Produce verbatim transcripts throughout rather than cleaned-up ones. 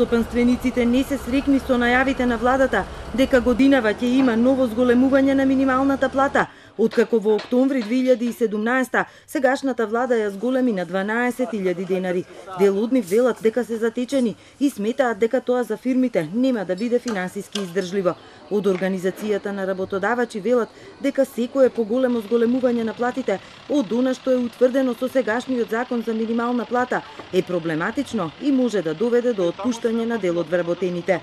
Автостопанствениците не се среќни со најавите на владата дека годинава ќе има ново зголемување на минималната плата. Откако во октомври две илјади и седумнаесета сегашната влада ја зголеми на дванаесет илјади денари. Дел од нив велат дека се затечени и сметаат дека тоа за фирмите нема да биде финансиски издржливо. Од организацијата на работодавачи велат дека секое поголемо зголемување на платите од она што е утврдено со сегашниот закон за минимална плата е проблематично и може да доведе до отпуштање на дел од вработените.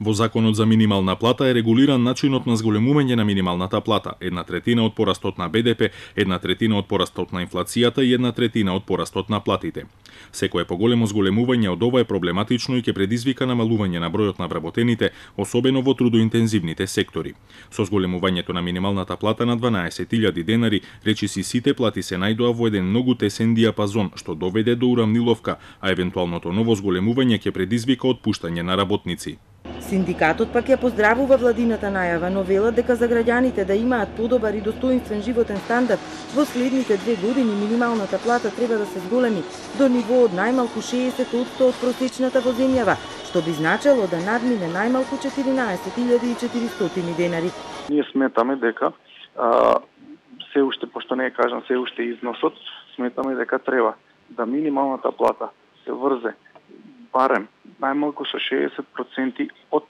Во Законот за минимална плата е регулиран начинот на зголемување на минималната плата, една третина од порастот на Б Д П, една третина од порастот на инфлацијата и една третина од порастот на платите. Секое поголемо зголемување од ова е проблематично и ќе предизвика намалување на бројот на вработените, особено во трудоинтензивните сектори. Со зголемувањето на минималната плата на дванаесет илјади денари, речиси сите плати се најдоа во еден многу тесен диапазон, што доведе до уравниловка, а евентуалното ново зголемување ќе предизвика отпуштање на работници. Синдикатот пак ја поздравува владината најава, но велат дека за граѓаните да имаат подобар и достоинствен животен стандард, во следните две години минималната плата треба да се зголеми до ниво од најмалку шеесет одсто од просечната во земјава, што би значело да надмине најмалку четиринаесет илјади и четиристотини денари. Ние сметаме дека а, се уште, пошто не е кажан се уште износот, сметаме дека треба да минималната плата се врзе барем најмалку со шеесет проценти од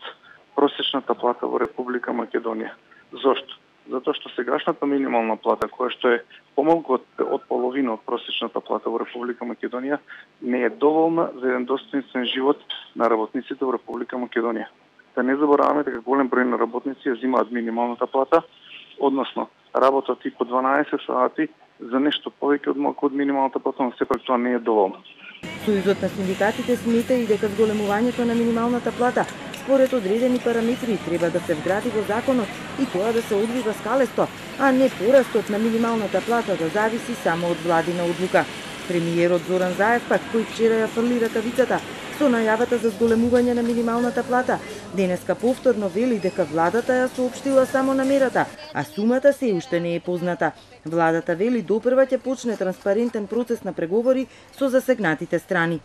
просечната плата во Република Македонија. Зошто? Затоа што сегашната минимална плата, која што е помалку од, од половина од просечната плата во Република Македонија, не е доволна за еден достоинствен живот на работниците во Република Македонија. Да не забораваме дека голем број на работници ја земаат минималната плата, односно работат и по дванаесет сати за нешто повеќе од малку од минималната плата, но сепак тоа не е доволно. Сојузот на синдикатите смета и дека зголемувањето на минималната плата според одредени параметри треба да се вгради во законот и тоа да се одвива скалесто, а не порастот на минималната плата да зависи само од владина одлука. Премиерот Зоран Заев пак, кој вчера ја фрли ракавицата со најавата за зголемување на минималната плата, денеска повторно вели дека владата ја соопштила само намерата, а сумата се уште не е позната. Владата вели допрва ќе почне транспарентен процес на преговори со засегнатите страни.